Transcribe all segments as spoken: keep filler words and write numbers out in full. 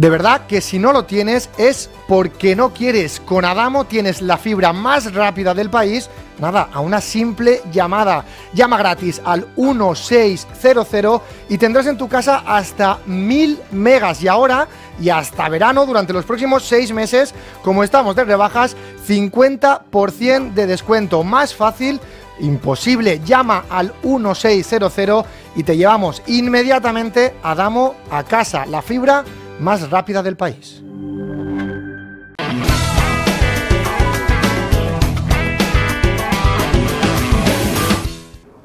De verdad que si no lo tienes es porque no quieres. Con Adamo tienes la fibra más rápida del país, nada, a una simple llamada. Llama gratis al uno seis cero cero y tendrás en tu casa hasta mil megas. Y ahora, y hasta verano, durante los próximos seis meses, como estamos de rebajas, cincuenta por ciento de descuento. Más fácil imposible. Llama al uno seis cero cero y te llevamos inmediatamente a Adamo a casa. La fibra más rápida del país.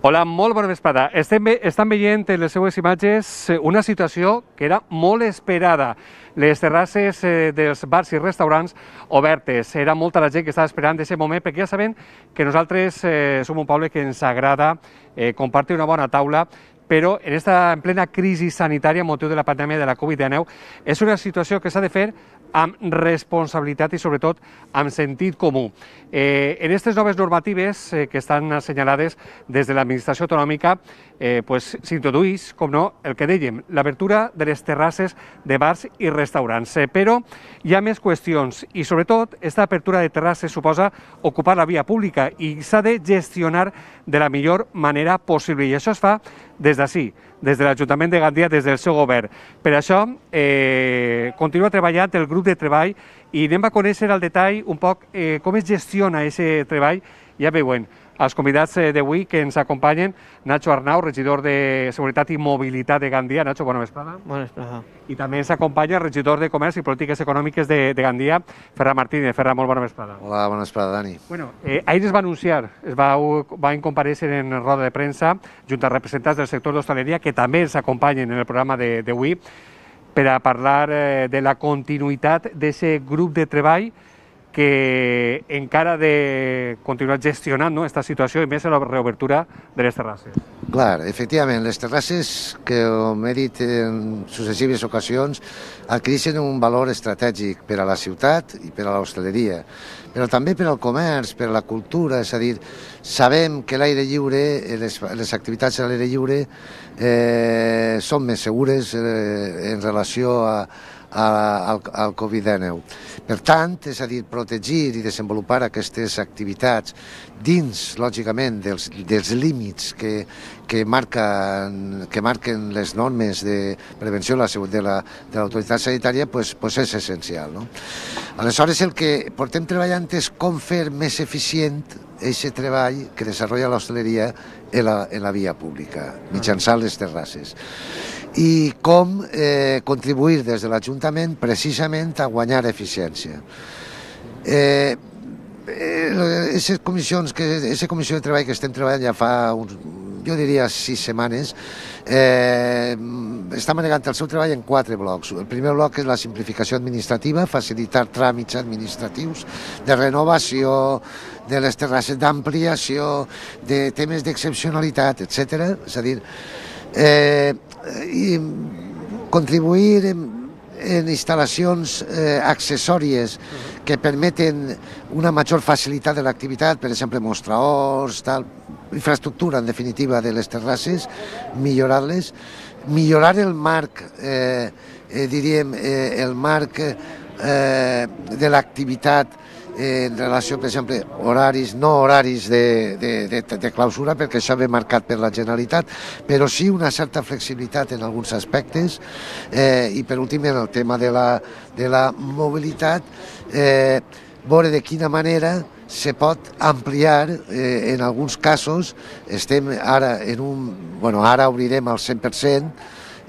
Hola, molt bona vesprada. Estem, estan veient en les seues imatges una situació que era molt esperada. Les terrasses dels bars i restaurants obertes. Era molta la gent que estava esperant aquest moment, perquè ja sabem que nosaltres eh, som un poble que ens agrada eh, compartir una bona taula, però en, esta, en plena crisi sanitària, motiu de la pandèmia de la Covid dinou, és una situació que s'ha de fer amb responsabilitat i, sobretot, amb sentit comú. Eh, en aquestes noves normatives eh, que estan assenyalades des de l'administració autonòmica, eh, pues, s'introduïx, com no, el que dèiem, l'obertura de les terrasses de bars i restaurants. Eh, però hi ha més qüestions i, sobretot, aquesta apertura de terrasses suposa ocupar la via pública i s'ha de gestionar de la millor manera possible. I això es fa des d'ací, des de l'Ajuntament de Gandia, des del seu govern. Per això, eh, continua treballant el grup de treball i anem a conèixer al detall un poc eh, com es gestiona aquest treball. Ja veuen, els convidats d'avui que ens acompanyen, Nacho Arnau, regidor de Seguretat i Mobilitat de Gandia. Nacho, bona vesprada. Bona vesprada. I també ens acompanya el regidor de Comerç i Polítiques Econòmiques de, de Gandia, Ferran Martínez. Ferran, molt bona vesprada. Hola, bona vesprada, Dani. Bueno, eh, ahir es va anunciar, es va, va comparèixer en roda de premsa, junt a representants del sector d'hostaleria, que també ens acompanyen en el programa d'avui, per a parlar eh, de la continuïtat d'aquest grup de treball que encara de continuar gestionant aquesta situació i més a la reobertura de les terrasses. Clar, efectivament, les terrasses, que com he dit en successives ocasions, adquireixen un valor estratègic per a la ciutat i per a l'hostaleria, però també per al comerç, per a la cultura, és a dir, sabem que l'aire lliure, les, les activitats a l'aire lliure eh, són més segures eh, en relació a al, al Covid dinou. Per tant, és a dir, protegir i desenvolupar aquestes activitats dins, lògicament, dels, dels límits que, que, marquen, que marquen les normes de prevenció de l'autoritat sanitària, pues, pues és essencial. No? Aleshores, el que portem treballant és com fer més eficient aquest treball que desenvolupa l'hostaleria en la, en la via pública, mitjançant les terrasses. I com eh, contribuir des de l'Ajuntament precisament a guanyar eficiència. Eh, Aquestes comissions, aquesta comissió de treball que estem treballant ja fa, uns, jo diria, sis setmanes, eh, està manegant el seu treball en quatre blocs. El primer bloc és la simplificació administrativa, facilitar tràmits administratius de renovació, de les terrasses d'ampliació, de temes d'excepcionalitat, etcètera. És a dir, eh, i contribuir en, en instal·lacions eh, accessòries que permeten una major facilitat de l'activitat, per exemple, mostradors, tal, infraestructura, en definitiva, de les terrasses, millorar-les, millorar el marc, eh, eh, diríem, eh, el marc eh, de l'activitat en relació, per exemple, horaris, no horaris de, de, de, de clausura, perquè això ve marcat per la Generalitat, però sí una certa flexibilitat en alguns aspectes eh, i, per últim, en el tema de la, de la mobilitat, eh, veure de quina manera se pot ampliar, eh, en alguns casos, estem ara en un... Bueno, ara obrirem al cent per cent,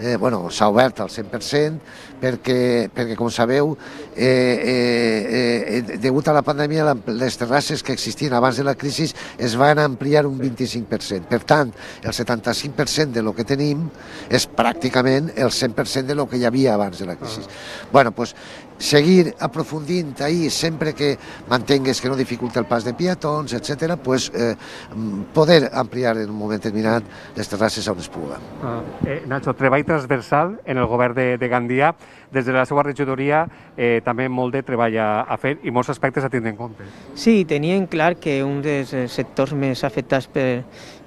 eh, bueno, s'ha obert al cent per cent, perquè, perquè com sabeu, eh, eh, eh, degut a la pandèmia, les terrasses que existien abans de la crisi es van ampliar un vint-i-cinc per cent. Per tant, el setanta-cinc per cent de lo que tenim és pràcticament el cent per cent de lo que hi havia abans de la crisi. Bueno, doncs, seguir aprofundint ahir, sempre que mantingues que no dificulta el pas de peatons, etcètera, pues, eh, poder ampliar en un moment determinat les terrasses on es puga. Uh, eh, Nacho, treball transversal en el govern de, de Gandia, des de la seva regidoria eh, també molt de treball a, a fer i molts aspectes a tindre en compte. Sí, tenien clar que un dels sectors més afectats per,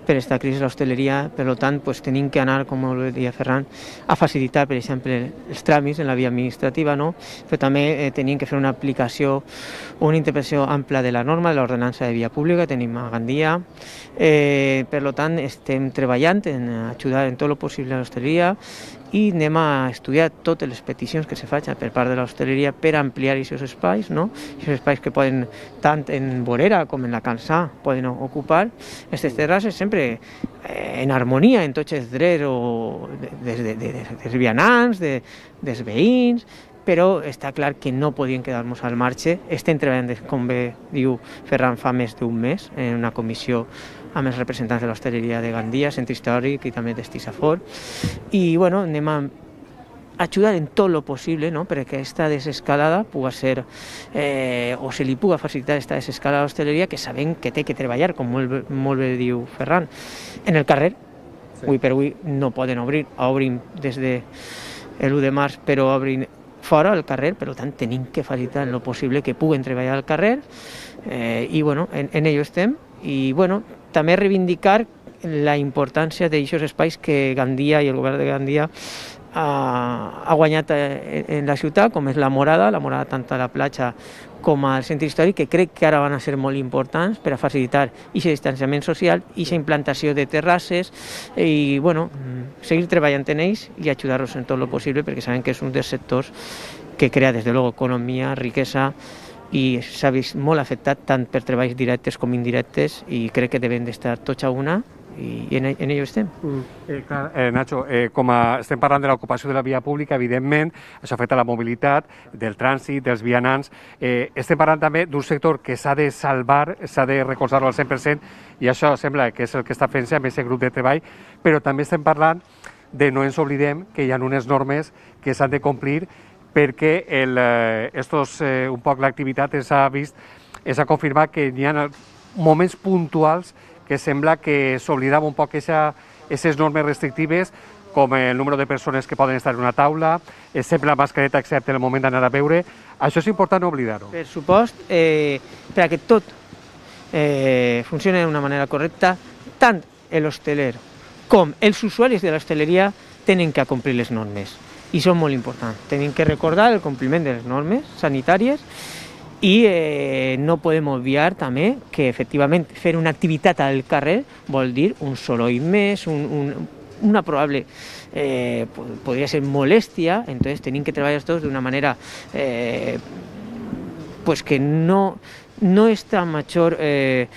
per aquesta crisi de l'hostaleria. Per tant, pues, tenim que anar, com deia Ferran, a facilitar, per exemple, els tràmits en la via administrativa, no? Però també eh, tenim que fer una aplicació, una interpretació ampla de la norma, de l'ordenança de via pública, tenim a Gandia. Eh, per tant, estem treballant en ajudar en tot el possible a l'hostaleria i anem a estudiar totes les peticions que se facin per part de l'hostaleria per ampliar aquests espais, no? Aquests espais que poden, tant en vorera com en la Cansà, poden ocupar aquestes terrasses, sempre en harmonia en tots els drets o des, de, de, dels vianants, de, dels veïns, però està clar que no podien quedar-nos al marge. Estem treballant, com bé diu Ferran, fa més d'un mes en una comissió amb els representants de l'hostaleria de Gandia, Centre Històric i també d'Estisafor. I bueno, anem a ajudar en tot el possible, no?, perquè aquesta desescalada pugui ser, eh, o se li pugui facilitar aquesta desescalada a l'hostaleria, que sabem que té que treballar, com molt, molt bé diu Ferran, en el carrer. Sí. Avui per avui no poden obrir, obrim des de l'u de març, però obrin fora al carrer, per tant tenim que facilitar en el possible que puguen treballar al carrer, eh, i bueno, en, en ello estem. I bueno, també reivindicar la importància d'aquests espais que Gandia i el govern de Gandia ha, ha guanyat en la ciutat, com és la Morada, la Morada tant a la platja com al centre històric, que crec que ara van a ser molt importants per a facilitar aquest distanciament social, aquesta implantació de terrasses i bueno, seguir treballant en ells i ajudar-los en tot el possible, perquè sabem que és un dels sectors que crea des de luego economia, riquesa, i s'ha vist molt afectat tant per treballs directes com indirectes i crec que devem d'estar tots a una i en, en ello estem. Mm. Eh, clar, eh, Nacho, eh, com a, estem parlant de l'ocupació de la via pública, evidentment, això afecta la mobilitat, del trànsit, dels vianants. Eh, estem parlant també d'un sector que s'ha de salvar, s'ha de recolzar-lo al cent per cent, i això sembla que és el que està fent-se amb aquest grup de treball, però també estem parlant de, no ens oblidem, que hi ha unes normes que s'han de complir perquè el, eh, estos, eh, un poc l'activitat s'ha vist, s'ha confirmat que hi ha moments puntuals que sembla que s'oblidava un poc aquestes normes restrictives, com el número de persones que poden estar en una taula, sempre la mascareta excepte en el moment d'anar a beure. Això és important no oblidar-ho. Per supost, eh, perquè tot eh, funcioni d'una manera correcta, tant l'hosteler com els usuaris de l'hostaleria tenen que complir les normes. I són molt importants. Tenim que recordar el compliment de les normes sanitàries i eh, no podem obviar també que efectivament fer una activitat al carrer vol dir un soroll més, un, un, una probable, eh, podria ser molèstia, entonces tenim que treballar tots d'una manera eh, pues que no, no esta major eh,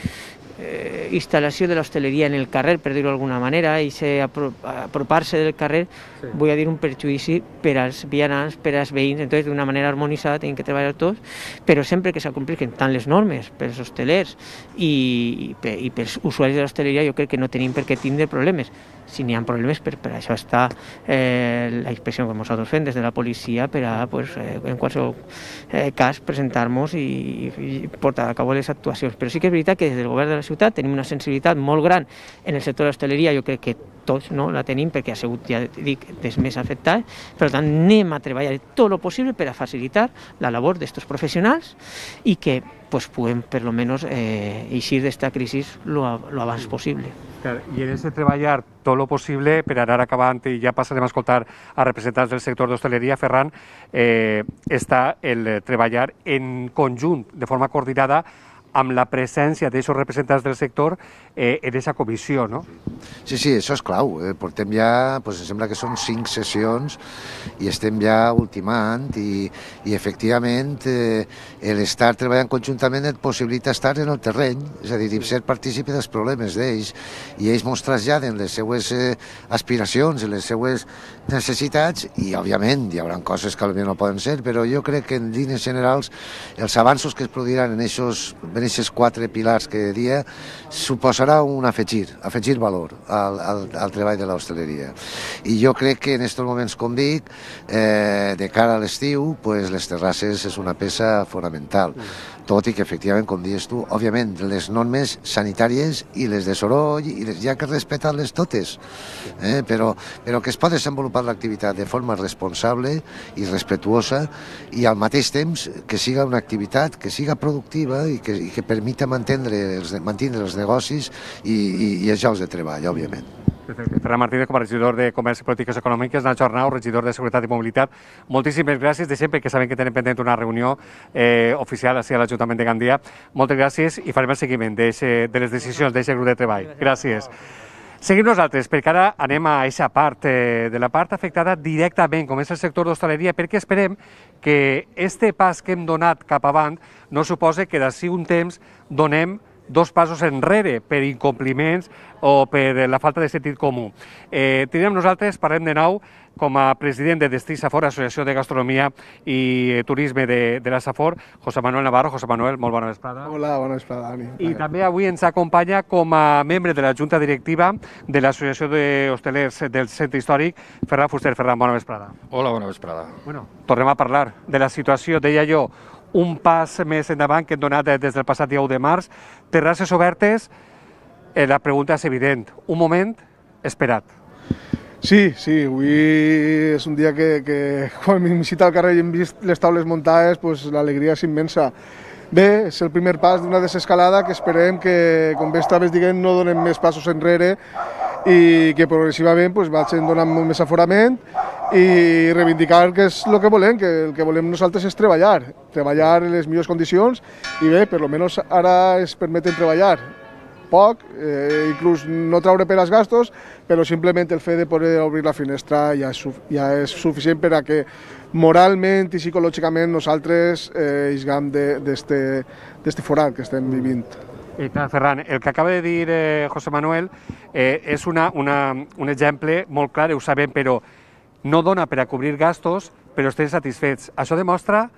eh, instal·lació de l'hostaleria en el carrer, per dir-ho d'alguna manera, i apropar-se del carrer, sí. Vull dir un perjudici per als vianants, per als veïns, entonces d'una manera harmonitzada tenim que treballar tots, però sempre que s'acomplixin tant les normes pels hostelers i, i, i pels usuaris de l'hostaleria, jo crec que no tenim per què tindre problemes. Si n'hi ha problemes, per, per això està eh, la inspecció que nosaltres fem des de la policia per a, pues, eh, en qualsevol eh, cas, presentar-nos i, i portar a cabo les actuacions. Però sí que és veritat que des del govern de la ciutat tenim una sensibilitat molt gran en el sector de l'hostaleria, jo crec que tots no, la tenim perquè ha sigut, ja dic, dels més afectats, per tant anem a treballar tot el possible per a facilitar la labor d'aquests professionals i que pues, puguem per lo menos eh, eixir d'esta crisi lo, lo abans possible. I en aquest treballar tot el possible per anar acabant, i ja passarem a escoltar a representants del sector d'hostaleria, Ferran, eh, està el treballar en conjunt, de forma coordinada, amb la presència d'aquests representants del sector eh, en aquesta comissió, no? Sí, sí, això és clau. Eh, portem ja, doncs, em sembla que són cinc sessions i estem ja ultimant i, i efectivament eh, l'estar treballant conjuntament et possibilita estar en el terreny, és a dir, ser partícipe dels problemes d'ells i ells mos traslladen les seues eh, aspiracions i les seues necessitats i, òbviament, hi haurà coses que potser no poden ser, però jo crec que en línies generals els avanços que es produiran en aquests aquests quatre pilars que dia suposarà un afegir, afegir valor al, al, al treball de l'hostaleria. I jo crec que en aquests moments, com dic, eh, de cara a l'estiu, pues, les terrasses és una peça fonamental. Tot i que, efectivament, com dius tu, òbviament, les normes sanitàries i les de soroll, i les, hi ha que respectar-les totes, eh? però, però que es pot desenvolupar l'activitat de forma responsable i respetuosa i al mateix temps que siga una activitat que siga productiva i que, i que permita mantenir els, mantenir els negocis i, i, i els llocs de treball, òbviament. Ferran Martínez, com a regidor de Comerç i Polítiques Econòmiques, Nacho Arnau, regidor de Seguretat i Mobilitat, moltíssimes gràcies de sempre, que sabem que tenen pendent una reunió eh, oficial a l'Ajuntament de Gandia. Moltes gràcies i farem el seguiment de les decisions d'aquest grup de treball. Gràcies. Seguim nosaltres, perquè ara anem a aquesta part, eh, de la part afectada directament, com és el sector d'hostaleria, perquè esperem que este pas que hem donat cap avant no suposa que d'ací un temps donem dos passos enrere per incompliments o per la falta de sentit comú. Eh, tenim nosaltres, parlem de nou, com a president de Destí Safor, Associació de Gastronomia i Turisme de, de la Safor, José Manuel Navarro. José Manuel, molt bona vesprada. Hola, bona vesprada, Dani. I també avui ens acompanya com a membre de la Junta Directiva de l'Associació d'Hostelers del Centre Històric, Ferran Fuster. Ferran, bona vesprada. Hola, bona vesprada. Bueno, tornem a parlar de la situació, deia jo, un pas més endavant que hem donat des del passat dia u de març. Terrasses obertes, eh, la pregunta és evident. Un moment esperat. Sí, sí, avui és un dia que, que quan m'he visitat al carrer i hem vist les taules muntades, pues, l'alegria és immensa. Bé, és el primer pas d'una desescalada que esperem que, com bé estaves dient, no donem més passos enrere i que progressivament pues, vagin donant molt més aforament i reivindicar que és el que volem, que el que volem nosaltres és treballar, treballar en les millors condicions i bé, per almenys ara es permeten treballar poc, eh, inclús no traure per als gastos, però simplement el fet de poder obrir la finestra ja és, ja és suficient per a que moralment i psicològicament nosaltres eh, isgam d'este forat que estem vivint. I clar, Ferran, el que acaba de dir eh, José Manuel eh, és una, una, un exemple molt clar, ho sabem, però no dona per a cobrir gastos, però estem satisfets. Això demostra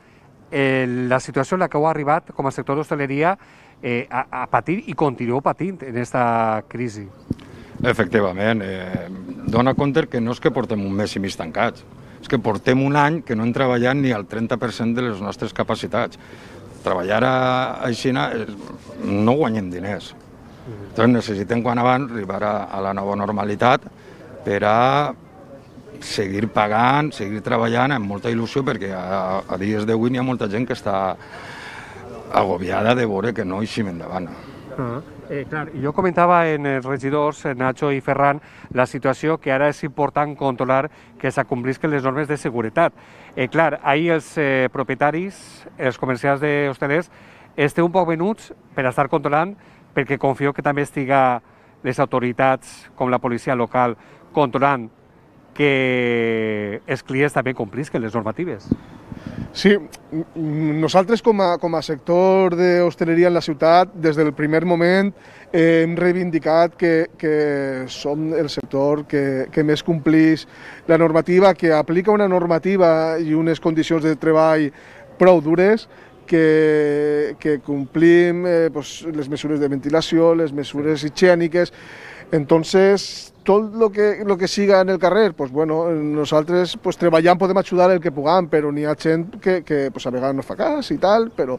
eh, la situació en la que heu arribat com a sector d'hostaleria eh, a, a patir i continueu patint en aquesta crisi. Efectivament, eh, dona compte que no és que portem un mes i mig tancats, és que portem un any que no hem treballat ni el trenta per cent de les nostres capacitats. Treballar així no guanyem diners. Doncs necessitem quan abans arribar a la nova normalitat per a seguir pagant, seguir treballant amb molta il·lusió, perquè a, a dies d'avui hi ha molta gent que està agobiada de veure que no eixim endavant. Uh-huh. eh, clar, jo comentava en els regidors, Nacho i Ferran, la situació que ara és important controlar que s'acomplisquen les normes de seguretat. Eh, clar, ahir els eh, propietaris, els comerciants d'hostelers, esteu un poc venuts per estar controlant, perquè confio que també estiga les autoritats, com la policia local, controlant que els clients també complisquen les normatives. Sí, nosaltres com a, com a sector d'hostaleria en la ciutat, des del primer moment eh, hem reivindicat que, que som el sector que, que més complís la normativa, que aplica una normativa i unes condicions de treball prou dures, que, que complim eh, pues, les mesures de ventilació, les mesures higièniques. Entonces, tot el que, lo que siga en el carrer, pues bueno, nosaltres pues, treballant podem ajudar el que puguem, però n'hi ha gent que, que pues, a vegades no fa cas i tal, però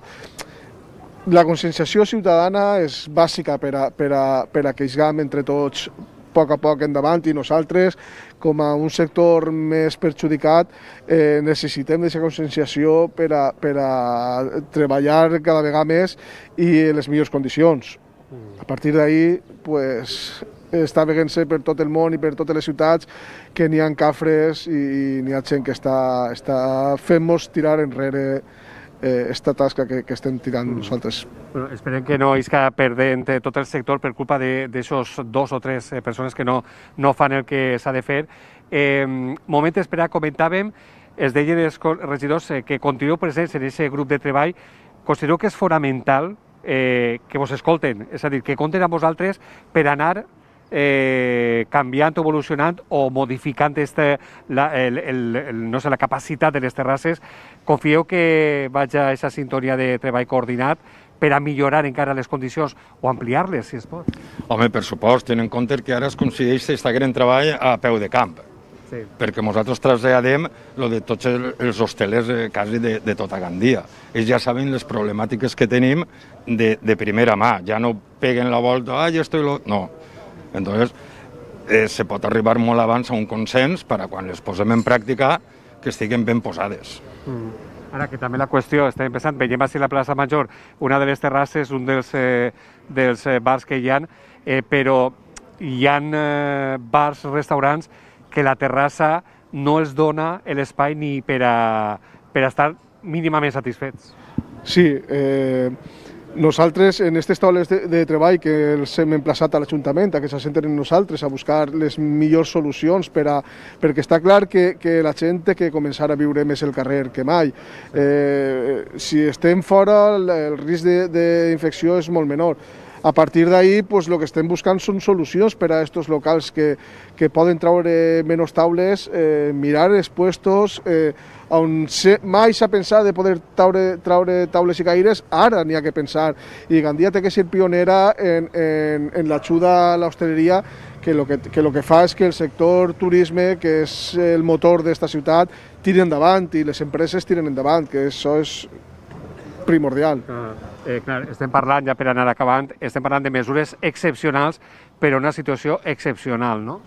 la conscienciació ciutadana és bàsica per a, per a, per a que isgam entre tots a poc a poc endavant, i nosaltres, com a un sector més perjudicat, eh, necessitem aquesta conscienciació per a, per a treballar cada vegada més i en les millors condicions. A partir d'ahir, pues, està veient-se per tot el món i per totes les ciutats que n'hi ha cafres i, i n'hi ha gent que està, està fent-nos tirar enrere eh, esta tasca que, que estem tirant nosaltres. Bueno, esperem que no isca perdent tot el sector per culpa d'aixòs dos o tres eh, persones que no, no fan el que s'ha de fer. Eh, moment d'esperar, comentàvem, es deien els regidors eh, que continueu presents en aquest grup de treball. Considereu que és fonamental eh, que vos escolten, és a dir, que compten amb vosaltres per anar Eh, canviant, evolucionant o modificant este, la, el, el, el, no sé, la capacitat de les terrasses. Confieu que vaig a aquesta sintonia de treball coordinat per a millorar encara les condicions o ampliar-les, si es pot? Home, per supost, tenint en compte que ara es coincideix aquest gran treball a peu de camp, sí. Perquè nosaltres traslladem lo de tots els hostelers eh, quasi de, de tota Gandia. Ells ja saben les problemàtiques que tenim de, de primera mà, ja no peguen la volta, ah, ja estoy... Lo... No. Entonces, eh, se pot arribar molt abans a un consens per a quan les posem en pràctica que estiguen ben posades. Mm. Ara que també la qüestió, estem pensant, veiem així la plaça Major, una de les terrasses, un dels, eh, dels eh, bars que hi ha, eh, però hi ha eh, bars, restaurants, que la terrassa no els dona l'espai ni per a, per a estar mínimament satisfets. Sí, eh, nosaltres en aquestes taules de, de treball que els hem emplaçat a l'Ajuntament, a que s'assenten en nosaltres a buscar les millors solucions per a, perquè està clar que, que la gent té que començar a viure més el carrer que mai. Eh, si estem fora, el risc d'infecció és molt menor. A partir d'ahí, pues, el que estem buscant són solucions per a aquests locals que, que poden treure menys taules, eh, mirar els puestos, eh, on se, mai s'ha pensat de poder traure, traure taules i caires, ara n'hi ha que pensar. I Gandia té que ser pionera en, en, en l'ajuda a l'hostaleria, que el que, que, lo que fa és que el sector turisme, que és el motor d'esta ciutat, tiri endavant i les empreses tiren endavant, que això és primordial. Ah, eh, clar, estem parlant, ja per anar acabant, estem parlant de mesures excepcionals per a una situació excepcional, no?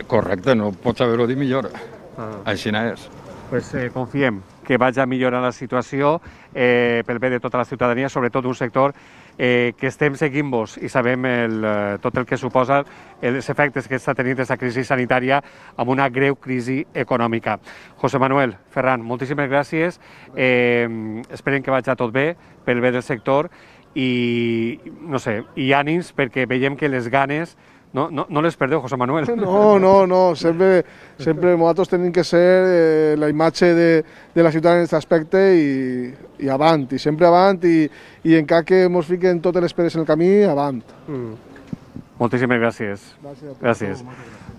Correcte, no pots haver-ho dit millor. Ah. Així és. Pues, eh, confiem que vagi a millorar la situació eh, pel bé de tota la ciutadania, sobretot un sector eh, que estem seguint-vos i sabem el, eh, tot el que suposa els efectes que està tenint aquesta crisi sanitària amb una greu crisi econòmica. José Manuel, Ferran, moltíssimes gràcies. Eh, esperem que vagi tot bé pel bé del sector i, no sé, i ànims perquè veiem que les ganes no, no, no les perdeu, José Manuel. No, no, no, sempre, sempre nosaltres tenim que ser eh, la imatge de, de la ciutat en aquest aspecte i, i avant, i sempre avant, i, i encara que ens fiquen totes les pedres en el camí, avant. Mm. Moltíssimes gràcies. Gràcies. Gràcies.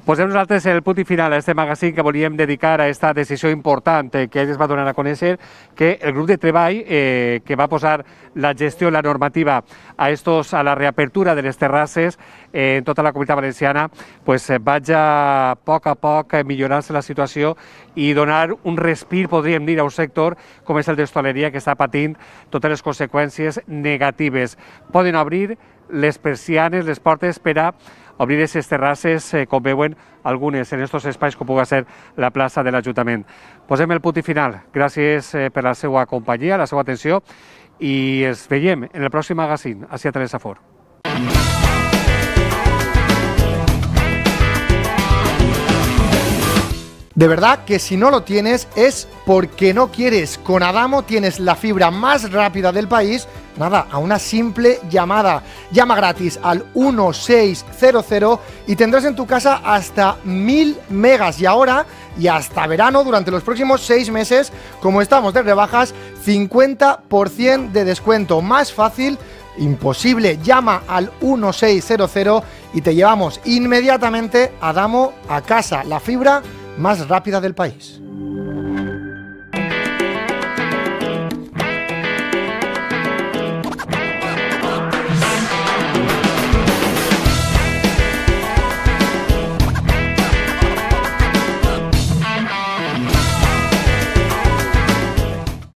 Posem nosaltres el punt i final a aquest magazín que volíem dedicar a aquesta decisió important que ahir es va donar a conèixer, que el grup de treball eh, que va posar la gestió, la normativa a, estos, a la reapertura de les terrasses eh, en tota la Comunitat Valenciana, pues, eh, vaig a poc a poc millorar-se la situació i donar un respir, podríem dir, a un sector com és el d'hostaleria, que està patint totes les conseqüències negatives. Poden obrir les persianes, les portes per a obrir aquestes terrasses, eh, com veuen algunes en aquests espais com pugui ser la plaça de l'Ajuntament. Posem el punt i final. Gràcies eh, per la seva companyia, la seva atenció i ens veiem en el pròxim magazín. Així a Teresa Fort. De verdad que si no lo tienes es porque no quieres. Con Adamo tienes la fibra más rápida del país, nada, a una simple llamada. Llama gratis al uno seis cero cero y tendrás en tu casa hasta mil megas. Y ahora, y hasta verano, durante los próximos seis meses, como estamos de rebajas, cincuenta por ciento de descuento. Más fácil imposible. Llama al uno seis cero cero y te llevamos inmediatamente Adamo a casa. La fibra más rápida del país.